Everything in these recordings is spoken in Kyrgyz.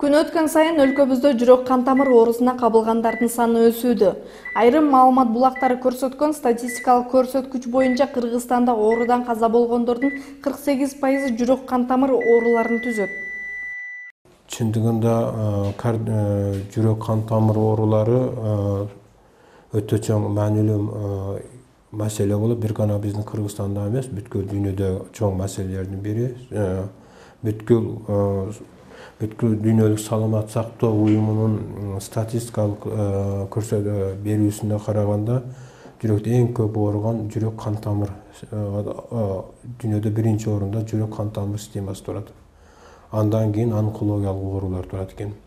Күн өткөн сайын өлкөбүздө жүрөк кан тамыр оорусуна кабылгандардын саны өсүүдө. Айрым маалымат булактары көрсөткөн статистикалык көрсөткүч боюнча Кыргызстанда оорудан каза болгондордун 48% жүрөк кан тамыр ооруларын түзөт. Чындыгында жүрөк кан тамыр оорулары өтө чоң маанилүү маселе болуп, бир гана биздин Кыргызстанда эмес, бүткүл дүйнөдө чоң маселелердин бири. Бүткүл дүйнөлүк саламат сактоо уюмунун статистикалык берүүсүнө караганда, жүрөктө эң көп ооруган жүрөк кан тамыр, дүйнөдө биринчи орунда жүрөк кан тамыр системасы турат. Андан кийин онкологиялык оорулар турат экен.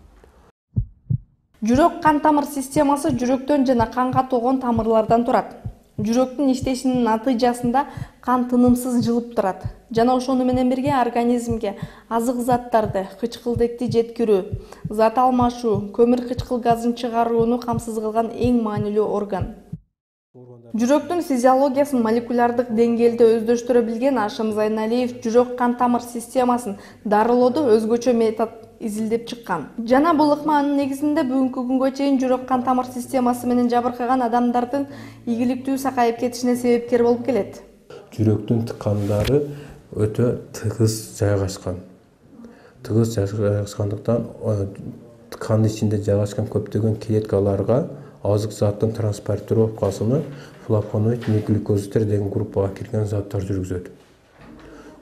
Жүрөк кан тамыр системасы жүрөктөн жана канга тогон тамырлардан турат. Жүрөктүн иштешинин натыйжасында кан тынымсыз жылып турат жана ошону менен бирге организмге азык заттарды, кычкылдыкты жеткирүү, зат алмашуу, көмүр кычкыл газын чыгарууну камсыз кылган эң маанилүү орган. Жүрөктүн физиологиясын молекулярдык деңгээлде өздөштүрө билген Ашым Зайналиев жүрөк кан тамыр системасын дарылоодо өзгөчө метод изилдеп чыккан. Жана бул ыкманын негизинде бүгүнкү күнгө чейин жүрөк кан тамыр системасы менен жабыркаган адамдардын ийгиликтүү сакайып кетишине себепкер болуп келет. Жүрөктүн ткандары өтө тыгыз жайгашкан. Тыгыз жайгашкандыктан ткандын ичинде жайгашкан көптөгөн клеткаларга азык заттын транспортировкасыны флавоноид, глюкозиттер деген группага кирген заттар жүргүзөт.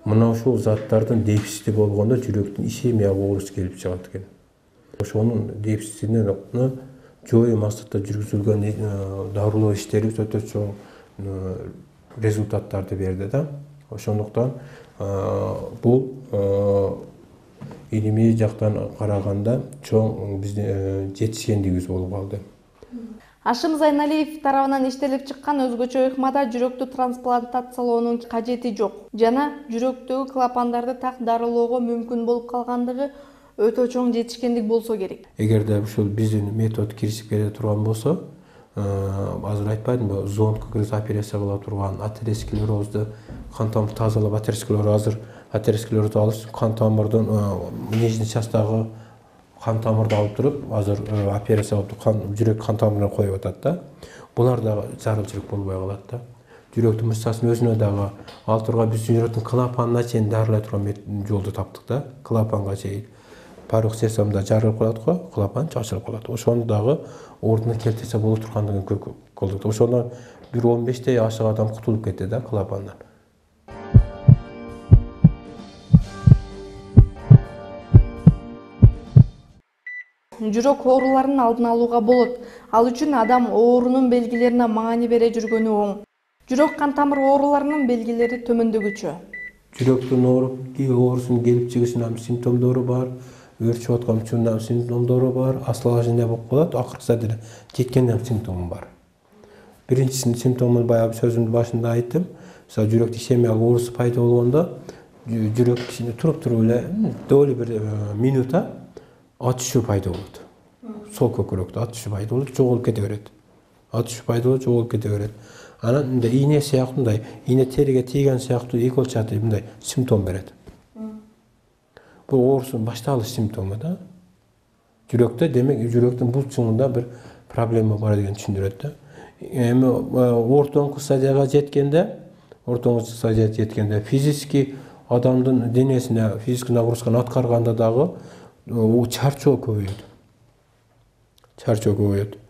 Мына ушул заттардын дефицити болгондо жүрөктүн ишемия ооруусу келип чыгат экен. Ошонун дефицитин жою максатта жүргүзүлгөн дарылоо иштери өтө чоң результаттарды берди да. Ошондуктан бул илимий жактан караганда чоң биздин жетишкендигибиз болуп калды. Ашым Зайналиев тарабынан иштелип чыккан өзгөчө ыкмада жүрөктү трансплантациялоонун кажети жок жана жүрөктөгү клапандарды так дарылоого мүмкүн болуп калгандыгы өтө чоң жетишкендик болсо керек. Эгерде ушул биздин метод киришип келе турган болсо, азыр айтпадымбы, зондко киргизип операция кыла турган, атеросклерозду кан тамыр тазалап, атеросклерозду алыш, кан тамырдын нижний частагы кан тамырды алып туруп, азыр операция кылып жүрөк кан тамырына коюп атат да. Булар дагы зарылчылык болбой калат да. Жүрөктүн мышцасынын өзүнө дагы ал турган биз жүрөктүн клапанына чейин дарылай турган жолду таптык да. Клапанга чейин порог сердцемда жарылып калат го, клапан ачылып калат. Ошону дагы ордуна келтирсе боло тургандыгын көрдүк. Ошондон бир 15 ашык адам кутулуп кетти да клапандан. Жүрөк ооруларын алдын алууга болот. Ал үчүн адам оорунун белгилерине маани бере жүргөнү оң. Жүрөк кан тамыр ооруларынын белгилери төмөндөгүчө. Жүрөктүн оорусунун келип чыгышынын симптомдору бар, өрчүп аткан учурунда симптомдору бар, осложнение болуп калат, акыркыса деле жеткенде симптому бар. Биринчисинин симптомун баягы сөзүмдүн башында айттым. Мисалы жүрөктө ишемиялык оорусу пайда болгондо жүрөк ичинде туруп эле доли бир минута атышуу пайда болот. Сол көкүрөктө атышуу пайда болот, жоголуп кете берет. Атышуу пайда болот, жоголуп кете берет. Анан мындай ийне сыяктуу, мындай ийне териге тийген сыяктуу игольчатый мындай симптом берет. Бул оорусунун башталыш симптому да. Жүрөктө, демек жүрөктүн бул чуңунда бир проблема бар деген түшүндүрөт да. Эми ортоңку стадияга жеткенде, физически адамдын денесине физический нагрузканы аткарганда дагы чарчоо көбөйөт.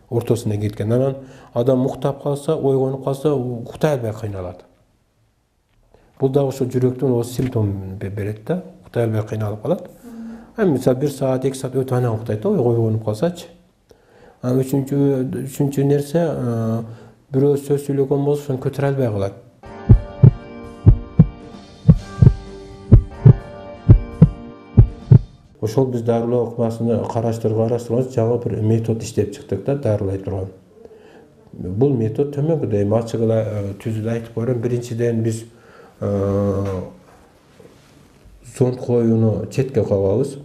Ортосуна кеткен. Анан адам уктап калса, ойгонуп калса, уктай албай кыйналат. Бул дагы ошо жүрөктүн симптомун берет да. Уктай албай кыйналып калат. Мисалы 1 саат, 2 саат өтүп анан уктайт да, ойгонуп калсачы. Үчүнчү нерсе, бирөө сөз сүйлөгөн болсо, ошону көтөрө албай калат. Ошол биз дарылоо ыкмасын караштырганбыз, жаңы бир метод иштеп чыктык да, дарылай турган. Бул метод төмөнгөдөй ачык эле түзүлүп айтып берем. Биринчиден биз зонд коюуну четке коебуз.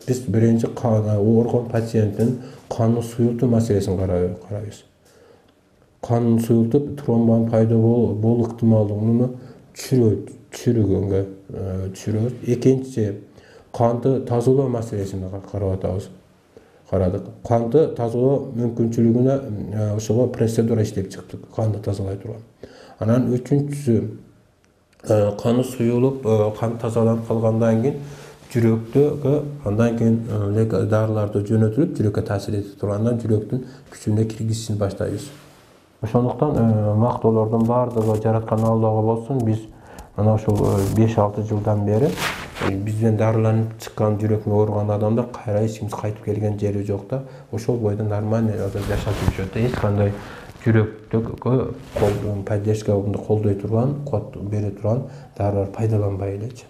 Биз биринчи ооруган пациенттин канын суюлтуу маселесин карайбыз. Канын суюлтуп, тромбонун пайда болуу ыктымалдыгын түшүрүүгө түшүрөбүз. Экинчи, канды тазалоо маселесин карап атабыз. Карадык. Канды тазалоо мүмкүнчүлүгүнө ошого процедура иштеп чыктык, канды тазалай турган. Анан үчүнчүсү каны суюлуп, кан тазаланып калгандан кийин жүрөктөгө андан кийин дарыларды жөнөтүлүп, жүрөккө таасир эте тургандан жүрөктүн күчүнө киргизишин баштайбыз. Ошондуктан мактоолордун баардыгы жараткан Аллага болсун, биз мына ушул 5-6 жылдан бери бизден дарыланып чыккан жүрөккө ооруган адамдар кайра эч ким кайтып келген жери жок да, ошол бойдон нормальный жашап жүрүшөт. Эч кандай жүрөктөгө поддержка колдой турган, код бере турган дарылар пайдаланбай элечи.